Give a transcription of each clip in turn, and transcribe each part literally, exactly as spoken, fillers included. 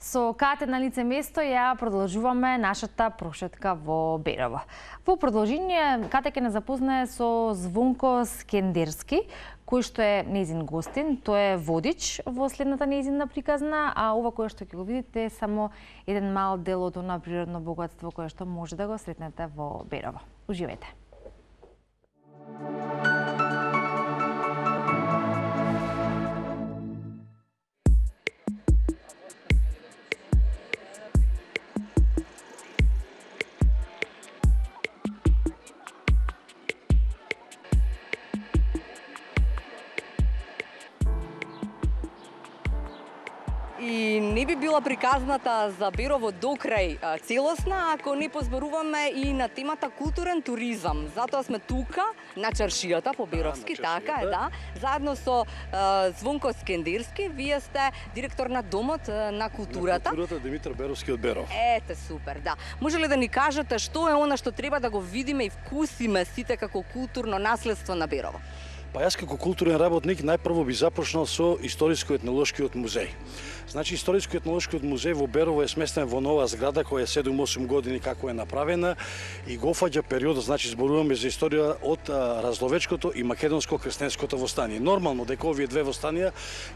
Со Кате на лице место ја продолжуваме нашата прошетка во Берово. Во продолжение, Кате ќе не запознае со Звонко Скендерски, кој што е нејзин гостин. Тој е водич во следната нејзина приказна, а ова кое што ќе го видите е само еден мал дел од она природно богатство кое што може да го сретнете во Берово. Уживајте! И не би била приказната за Берово до крај целосна ако не позборуваме и на темата културен туризам. Затоа сме тука на чаршијата по Беровски, да, така е, да. Заедно со uh, Звонко Скендерски, вие сте директор на Домот uh, на културата. На културата Димитар Беровски од Беров. Ете, супер, да. Може ли да ни кажете што е она што треба да го видиме и вкусиме сите како културно наследство на Берово? Па јас како културен работник најпрво би започнал со Историско-етнолошкиот музеј. Значи, Историско-етнолошкиот музеј во Берово е сместен во нова зграда која е седум-осум години како е направена и го фаќа периодот, значи зборуваме за историја од а, Разловечкото и Македонско-крстенското востание. Нормално дека овие две востанија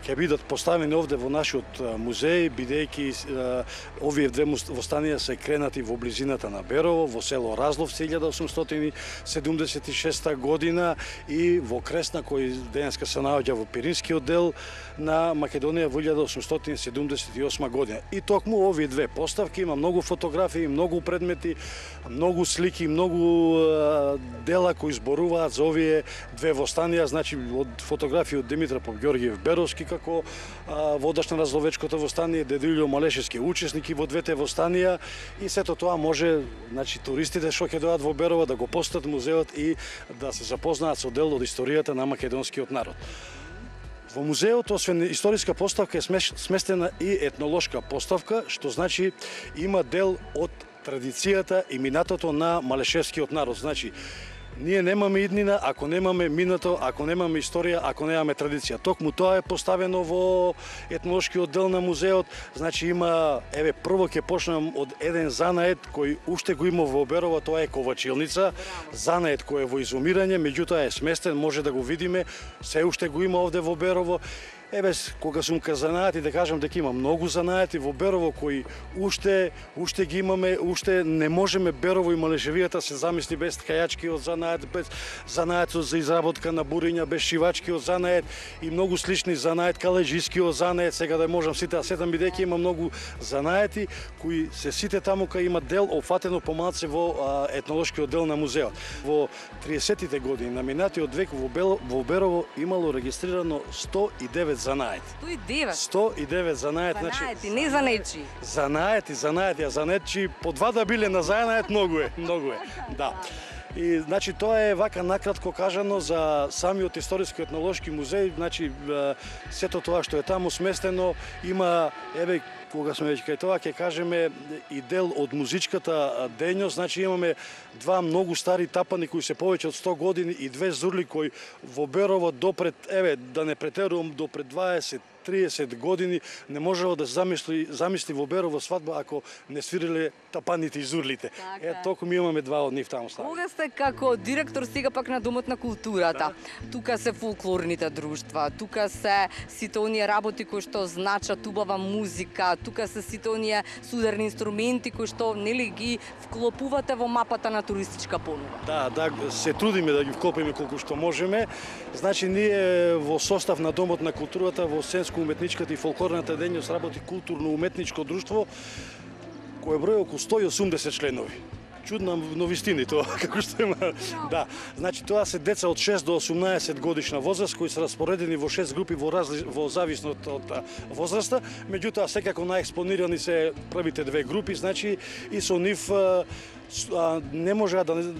ќе бидат поставени овде во нашиот музеј, бидејќи овие две востанија се кренати во близината на Берово, во село Разловци илјада осумстотини седумдесет и шеста година и во Кресна кој денеска се наоѓа во Пиринскиот дел на Македонија во илјада осумстотини седумдесет и осма година. И токму овие две поставки има многу фотографии, многу предмети, многу слики, многу е, дела кои зборуваат за овие две востанија, значи од фотографии од Димитар Попѓоргиев Беровски како е, водач на Разловечкото востание, Дедо Илјо Малешевски учесник во двете востанија и сето тоа може, значи туристите што ќе дојдат во Берово да го посетат музеот и да се запознаат со дел од историјата на македонскиот народ. Во музеот, освен историска поставка, е сместена и етнолошка поставка, што значи има дел од традицијата и минатото на малешевскиот народ. Значи, ние немаме иднина ако немаме минато, ако немаме историја, ако немаме традиција. Токму тоа е поставено во етнолошкиот дел на музеот. Значи има, еве, прво ќе почнам од еден занает кој уште го има во Берово, тоа е ковачилница. Занает кој е во изумирање, меѓутоа е сместен, може да го видиме, се уште го има овде во Берово. Еве, кога сум ка занаати, да кажам дека има многу занаати во Берово кои уште уште ги имаме, уште не можеме Берово и Малешевијата се замисли без ткајачкиот занаат, без занаатот за изработка на буриња, без шивачкиот занаат и многу слични занаат, калеџискиот занаат, сега да можам сите да сетам бидејќи има многу занаати кои се сите таму кај има дел опфатено помалце во а, етнолошкиот дел на музеот. Во триесеттите години на минатиот век во, Бел, во Берово имало регистрирано сто и девет занаети. сто и девет. сто и девет занаети, Занаети, значи, не занечи. Занаети, занаети, а занечи по два да биле на занает многу е, многу е. Да. И значи тоа е вака накратко кажано за самиот Историско-етнолошки музеј, значи сето тоа што е таму сместено има, еве, кога сме веќе кај тоа, ќе кажеме и дел од музичката дејност, значи имаме два многу стари тапани кои се повеќе од сто години и две зурли кои во Берово допред, еве, да не претерувам, допред дваесет триесет години не можело да се замисли, замисли во Берово свадба ако не свириле тапаните и зурлите. Така. Е, толку ми имаме два од нив таму стави. Кога сте како директор сега пак на Домот на културата, да. Тука се фолклорните друштва, тука се сите оние работи кои што значат убава музика, тука се сите оние сударни инструменти кои што нели ги вклопувате во мапата на туристичка понуда. Да, да, се трудиме да ги вклопиме колку што можеме. Значи ние во состав на Домот на културата во уметничката и фолклорната дејност работи културно-уметничко друштво кое брои околу сто и осумдесет членови. Чудна новистини тоа, како што има. Да, значи тоа се деца од шест до осумнаесет годишна возраст кои се распоредени во шест групи во разли... во зависно од возраста, меѓутоа секако најекспонирани се првите две групи, значи и со нив не може да не,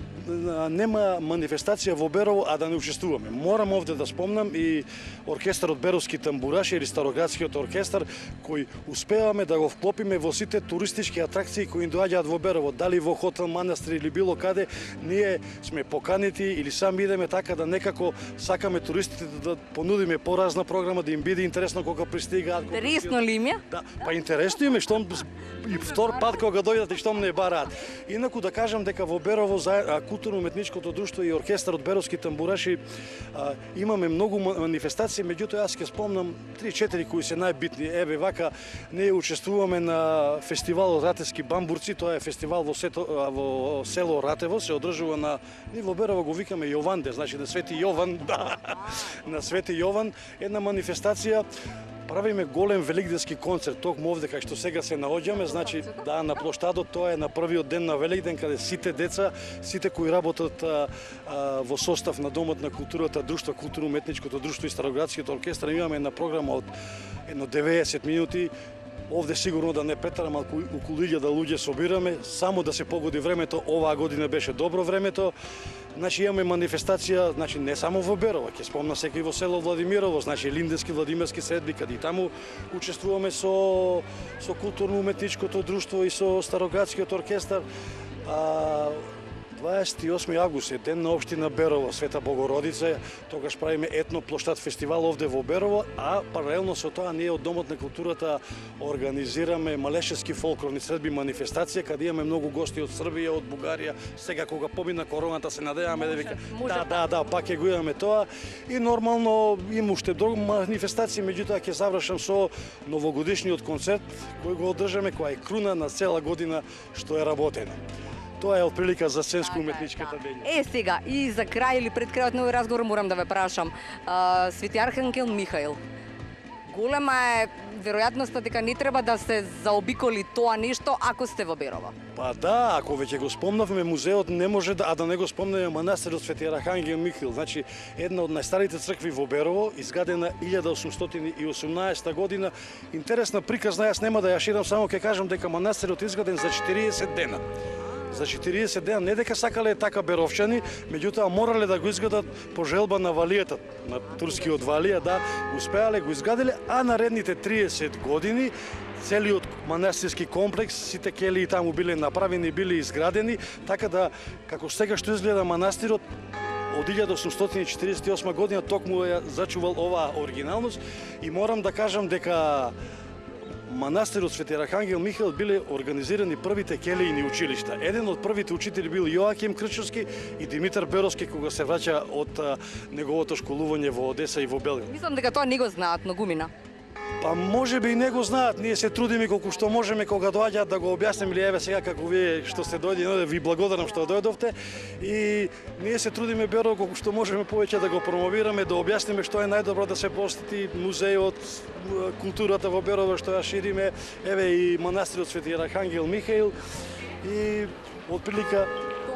нема манифестација во Берово а да не учествуваме. Морам овде да спомнам и оркестарот Беровски тамбураши или Староградскиот оркестар кој успеваме да го вклопиме во сите туристички атракции кои доаѓаат во Берово, дали во хотел Манастир или било каде, ние сме поканети или сами идеме така да некако сакаме туристите да понудиме поразна програма, да им биде интересно кога пристигаат. Интересно ли им е? Да, па интересно им е штом и втор пат кога дојдат и штом не бараат. Инаку да кажам дека во Берово културно-уметничкото друштво и оркестарот Беровски тамбураши а, имаме многу манифестации, меѓутоа јас ќе спомнам три-четири кои се најбитни. Еве вака ние учествуваме на фестивалот Ратевски бамбурци, тоа е фестивал во, сето, во село Ратево, се одржува на ние во Берово го викаме Јованде, значи на Свети Јован, да, на Свети Јован, една манифестација. Правиме голем великденски концерт, токму овде кај што сега се наоѓаме, значи да на плоштадот, тоа е на првиот ден на Великден каде сите деца, сите кои работат а, а, во состав на Домот на културата, друштво културно-уметничкото друштво и Староградскиот оркестар, имаме една програма од едно деветдесет минути. Овде сигурно да не претарам, ако околу илјада луѓе собираме, само да се погоди времето, оваа година беше добро времето. Значи имаме манифестација, значи не само во Берово, ќе спомнам секој во село Владимирово, значи Линденски Владимирски средби, каде и таму учествуваме со со културно-уметничкото друштво и со Староградскиот оркестар. А, дваесет и осми август е ден на општина Берово, Света Богородица, тогаш правиме етно плоштад фестивал овде во Берово, а паралелно со тоа ние од Домот на културата организираме малешевски фолклорни средби манифестација, каде имаме многу гости од Србија, од Бугарија. Сега кога помина короната се надеваме да вика да, да, да, пак ќе го имаме тоа. И нормално има уште други манифестации, меѓутоа ќе завршам со новогодишниот концерт кој го одржаме, која е круна на цела година што е работено. Тоа е отприлика за сценско-уметничката дејност. Е, сега, и за крај или пред крајот на овој разговор морам да ве прашам. А, Свети Архангел Михаил, голема е веројатноста дека не треба да се заобиколи тоа нешто ако сте во Берово. Па да, ако веќе го спомнавме музеот, не може да, а да не го спомнеме манастирот Свети Архангел Михаил. Значи, една од најстарите цркви во Берово, изградена илјада осумстотини и осумнаесета година. Интересна приказна, јас нема да ја ширам, само ќе кажам дека манастирот изграден за четириесет дена. За четириесет дена, не дека сакале така беровчани, меѓутоа морале да го изградат по желба на валијата, на турскиот валија, да, успеале, го изградиле, а наредните триесет години целиот манастирски комплекс, сите келии таму биле направени, биле изградени, така да, како сега што изгледа манастирот, од илјада осумстотини и четиридесет и осма година токму ја зачувал оваа оригиналност и морам да кажам дека манастирот Свети Архангел Михаил биле организирани првите келијни училишта. Еден од првите учители бил Јоаким Крчовски и Димитар Беровски кога се враќа од а, неговото школување во Одеса и во Белград. Мислам дека тоа не го знаат многумина. Па може би и не го знаат, ние се трудиме колку што можеме кога доаѓаат да го објаснеме, или еве сега како вие што сте дојдени, ви благодарам што дојдовте и ние се трудиме Берово колку што можеме повеќе да го промовираме, да објасниме што е најдобро да се посети музеот, културата во Берово што ја шириме, еве и манастирот Свети Архангел Михаил и отприлика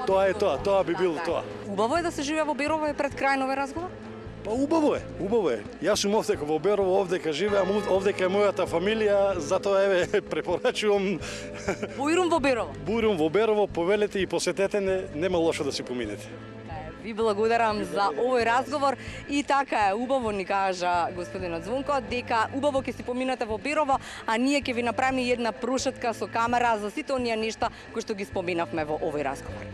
тоа е тоа, тоа би било тоа. Убаво е да се живее во Берово пред крај на овој разговор? Па убаво е, убаво е. Јас сум овде во Берово, овде ка живеам, овде ка е мојата фамилија, затоа еве препорачувам Бујрум во Берово. Бујрум во Берово, повелете и посетете не, нема лошо да си поминете. Ви благодарам за овој разговор и така е, убаво ни кажа господинот Звонко дека убаво ќе си поминете во Берово, а ние ќе ви направиме една прошетка со камера за сите оние нешта кои што ги споминавме во овој разговор.